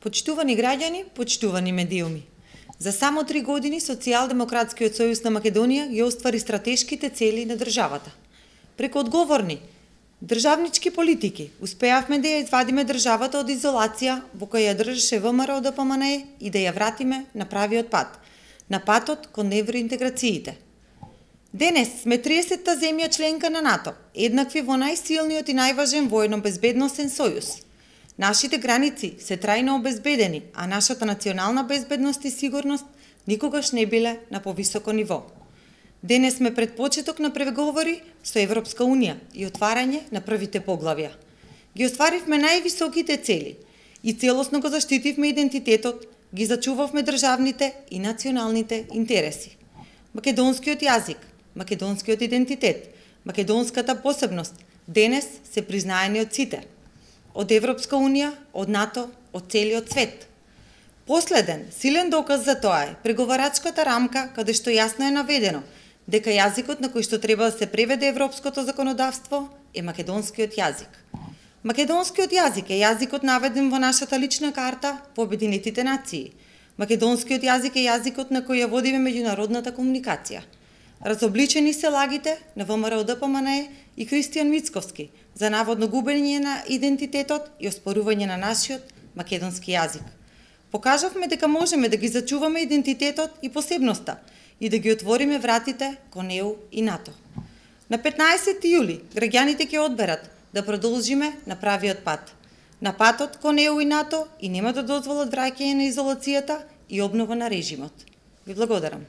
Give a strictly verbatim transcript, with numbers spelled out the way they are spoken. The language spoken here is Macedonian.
Почитувани граѓани, почитувани медиуми. За само три години Социјалдемократскиот сојуз на Македонија ги оствари стратешките цели на државата. Преку одговорни државнички политики успеавме да ја извадиме државата од изолација во која ја држеше ВМРО Д П М Н Е и да ја вратиме на правиот пат, на патот кон евроинтеграциите. Денес сме триесетта земја членка на НАТО, еднакви во најсилниот и најважен војно-безбедносен сојуз. Нашите граници се трајно обезбедени, а нашата национална безбедност и сигурност никогаш не биле на повисоко ниво. Денес сме пред почеток на преговори со Европска Унија и отварање на првите поглавја. Ги остваривме највисоките цели и целосно го заштитивме идентитетот, ги зачувавме државните и националните интереси. Македонскиот јазик, македонскиот идентитет, македонската посебност денес се признаени од сите. Од Европска Унија, од НАТО, од целиот свет. Последен, силен доказ за тоа е преговарачката рамка каде што јасно е наведено дека јазикот на кој што треба да се преведе европското законодавство е македонскиот јазик. Македонскиот јазик е јазикот наведен во нашата лична карта во Обединетите нации. Македонскиот јазик е јазикот на кој ја водиме меѓународната комуникација. Разобличени се лагите на ВМРО Д П М Н Е и Кристијан Мицковски за наводно губење на идентитетот и оспорување на нашиот македонски јазик. Покажавме дека можеме да ги зачуваме идентитетот и посебноста и да ги отвориме вратите кон Е У и НАТО. На петнаесетти јули граѓаните ќе одберат да продолжиме на правиот пат, на патот кон Е У и НАТО и нема да дозволат враќање на изолацијата и обнова на режимот. Ви благодарам.